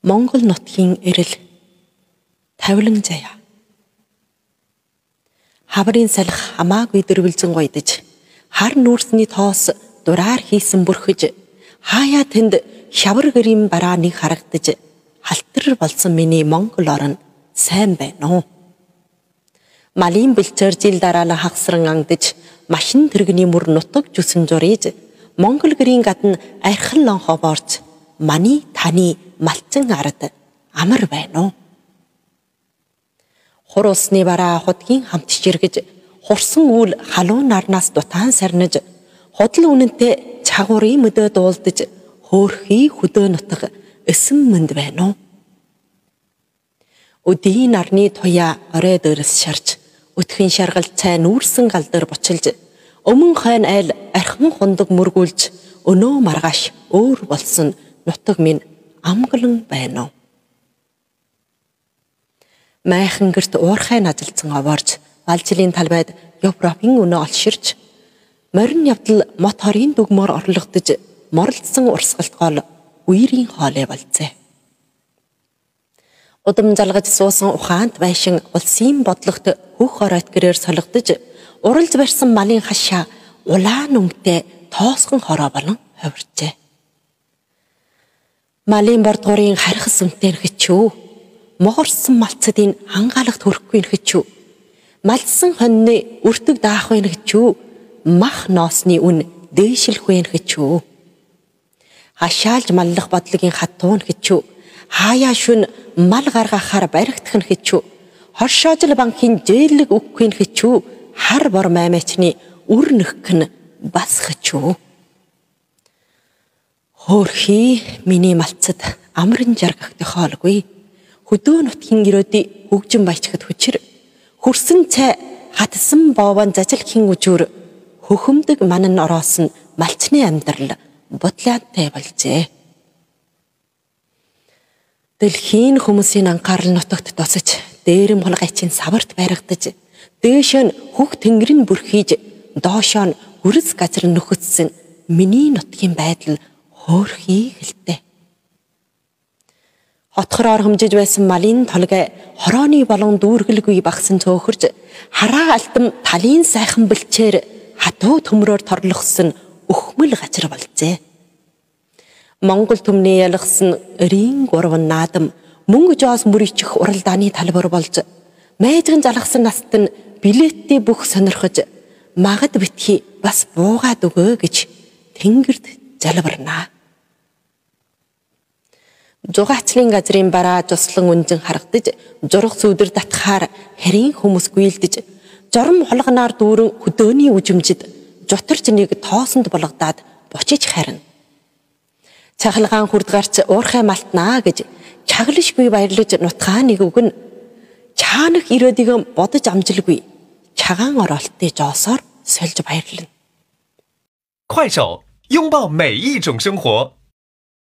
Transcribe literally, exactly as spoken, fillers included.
Монгол нутгийн эрэл тавилан заяа. Хаврын салхи хамаагүй дэрвэлзэн гойдож, хар нүүрсний тоос дураар хийсэн бүрхэж, хаяа тэнд шавар гэрийн бараа нэг харагдаж, халтар болсон миний Монгол орн сайн байна уу? Малын бэлчээр жил дараалан хагсран ангадж, машин тэрэгний мөр нутаг жүсэн журийж, Монгол гэрийн гадна архин лонхоо борж, маны таны малцан ард амар байна уу? Хур усны бараа худгийн хамт чиргэж, хурсан үл халуун нарнаас дутаан сарнаж, худал үнэнтэй чагуурын мөдөө дуулдаж, хөөрхий хөдөө нутаг эсэн мэнд байна уу? Өдийн нарны туяа орой дээрс шарж, өтхөн шаргал цай нүүрсэн гал дээр бочилж, өмнө хойн айл архин хундаг мөргүүлж, өнөө маргааш өөр болсон нутаг минь амгалан байна уу? Майхан гэрт уурхай нажилсан овоорж, Балжилийн талбайд Европын өнөө олширч, морин явдал мот хорийн дүгмөр орлогдож, моралдсан урсгалт гол үерийн хоолой болцээ. Удам залгаж суусан ухаант байшин улсын бодлогот хөх оройт гэрээр солигдож, уралж барьсан малын хашаа улаан өнгөтэй тоосгон хороо болон хувирчээ. Малын бордгорын харихс үнтэй нөхчүү, могорсон малцдын хангаалагт хөрөхгүй нөхчүү, малдсан хоньны өртөг даахгүй нөхчүү, мах ноосны үн дээшилхгүй нөхчүү. Хашаалж маллах бодлогийн хатуу нөхчүү, хаяа шүн мал гаргахаар баригдах нөхчүү, хоршоожл банкын жээлэг үггүй нөхчүү, хар бор маймачны үр нөхгөн бас хчүү. Хөөрхий миний малцад амрын жаргахтай хоолгүй, хөдөө нутгийн гэрөөдий хөгжин баячхад хүчир, хөрсөн цай хатсан боовон зажилхийн үжүр, хөхөмдөг манан ороосон малчны амьдрал бодлоантай болжээ. Дэлхийн хүмүүсийн анхаарал нутагт тосож, дээрэм хулгайчийн саварт байрагдаж, дээшөө нь хөх тэнгэрийн бүрхийж, доошоо нь үрс газар нөхөцсөн миний нутгийн байдал хөөрхий хэлтэй. Хотхороор хэмжиж байсан малын толгой хорооны болон дүүргэлгүй багсан цөөхөрж, хараа алтам талын сайхан бэлчээр хатуу төмрөөр торлохсон өхмөл газар болжээ. Монгол төмний ялгсан эрийн гурван наадам мөнгө жоос мөрийчих уралдааны талбар болж, майжган залгсан наст нь билеттэй бүх сонирхож, магад битгий бас буугаад өгөө гэж тэнгэрд залбирнаа. Зугаачлын газрын бараа туслан үнжин харагдаж, зурх сүудэр татхаар харийн хүмүүс гүйлдэж, жором холгоноор дүүрэн хөдөөний үжимжид жутарч нэг тоосонд болгодаад бочиж харна. Цахалгаан хүрд гарч уурхай малтнаа гэж чаглашгүй баярлаж нутгаа нэг өгн, чаанах ирээдийг бодож амжилгүй, чагаан оролттой жоосоор сольж баярлана. 快手，拥抱每一种生活。